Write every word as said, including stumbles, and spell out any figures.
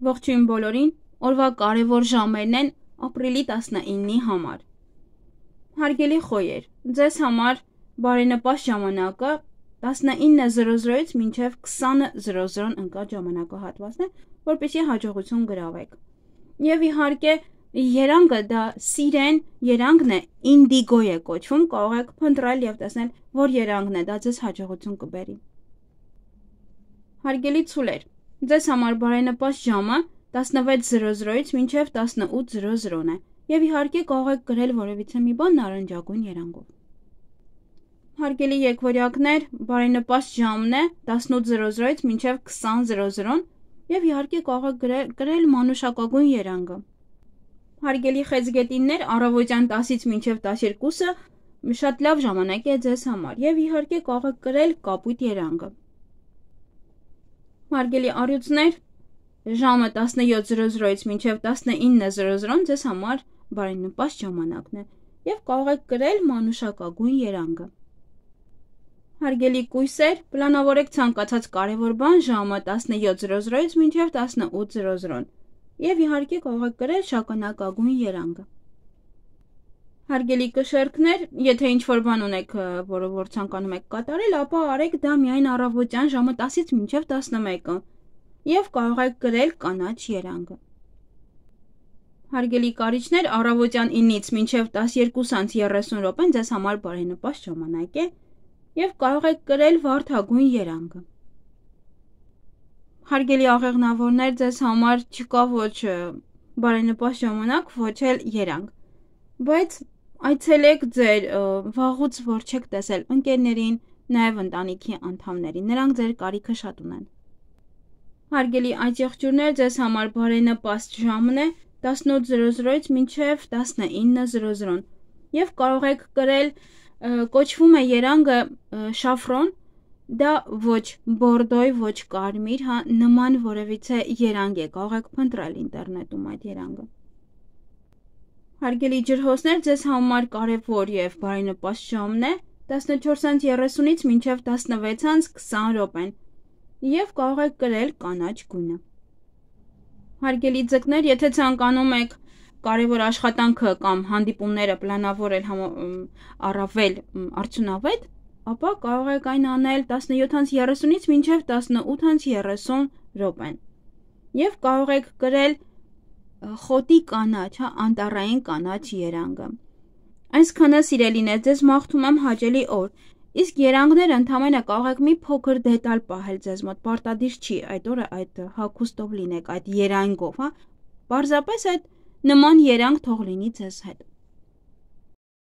Ողջույն բոլորին, օրվա կարևոր ժամերն են ապրիլի տասնինի համար։ Հարգելի խոյեր, ձեզ համար բարենպաստ ժամանակը տասնինը զրո զրոից մինչև քսանը զրո զրոն ընկած ժամանակահատվածն է, որպեսզի հաջողություն գրավեք։ Եվ իհարկե երանգը դա սիրեն երանգն է, ինդիգո է կոչվում, կարող եք փնտրել եւ տեսնել, որ երանգն է, դա ձեզ հաջողություն կբերի։ Հարգելի ցուլեր, ձեզ համար բարենպաստ ժամը տասնվեց զրո զրոից մինչև տասնութ զրո զրոն է, եւ իհարկե կարող եք գրել որևիցե մի բան նարնջագույն երանգով։ Հարգելի եկվորյակներ, բարենպաստ ժամն է տասնութ զրո զրոից մինչև քսան զրո զրոն, եւ իհարկե կարող եք գրել, գրել մանուշակագույն երանգը։ Հարգելի խեցգետիններ, առավոտյան տասից մինչև տասներկուսը շատ լավ ժամանակ է ձեզ համար, եւ իհարկե կարող եք գրել կապույտ երանգը։ Հարգելի առյուծներ, ժամը տասնյոթ զրո զրոից մինչև տասնինը զրո զրոն ձեզ համար բարենպաստ ժամանակն է, եւ կարող եք գրել մանուշակագույն երանգը։ Հարգելի կույսեր, պլանավորեք ցանկացած կարևոր բան ժամը տասնյոթ զրո զրոից մինչև տասնութ զրո զրոն, եւ իհարկե կարող եք գրել շագանակագույն երանգը։ Հարգելի կշեռքներ, եթե ինչ-որ բան ունեք, որը որ ցանկանում եք կատարել, ապա արեք դա միայն առավոտյան ժամը տասից մինչև տասնմեկը, եւ կարող եք գրել կանաչ երանգը։ Հարգելի կարիճներ, առավոտյան ինից մինչև տասներկուս անց երեսուն րոպեն ձեզ համար բարենպաստ ժամանակ է, եւ կարող եք գրել վարդագույն երանգը։ Հարգելի աղեղնավորներ, ձեզ համար չկա ոչ բարենպաստ ժամանակ, ոչ էլ երանգ, բայց այցելեք ձեր վաղուց որ չեք տեսել ընկերներին, նաև ընտանիքի անդամներին, նրանք ձեր կարիքը շատ ունեն։ Հարգելի այծեղջյուրներ, ձեզ համար բարենպաստ ժամն է տասնութ զրո զրոից մինչև տասնինը զրո զրոն, եւ կարող եք գրել, կոչվում է երանգը շաֆրոն, դա ոչ բորդոյ, ոչ կարմիր, հա, նման որևիցե երանգ է, կարող եք փնտրել ինտերնետում այդ երանգը։ Հարգելի ջրհոսներ, ձեզ համար կարևոր եւ բարենպաստ ժամն է տասնչորս անց երեսունից մինչև տասնվեց անց քսան րոպեն, եւ կարող եք գրել կանաչ գույնը։ Հարգելի ձկներ, եթե ցանկանում եք կարևոր աշխատանքը կամ հանդիպումները պլանավորել առավել արդյունավետ, ապա կարող եք այն անել տասնյոթ անց երեսունից մինչև տասնութ անց երեսուն րոպեն, եւ կարող եք գրել խոտի կանաչ, հա, անտառային կանաչ երանգը։ Այսքանը սիրելիներ, ձեզ մաղթում եմ հաճելի օր, իսկ երանգները ընդամենը կարող եք մի փոքր դետալ պահել ձեզ մոտ, պարտադիր չի այդ օրը այդ հագուստով լինեք, այդ երանգով, հա, պարզապես այդ նման երանգ թող լինի ձեզ հետ։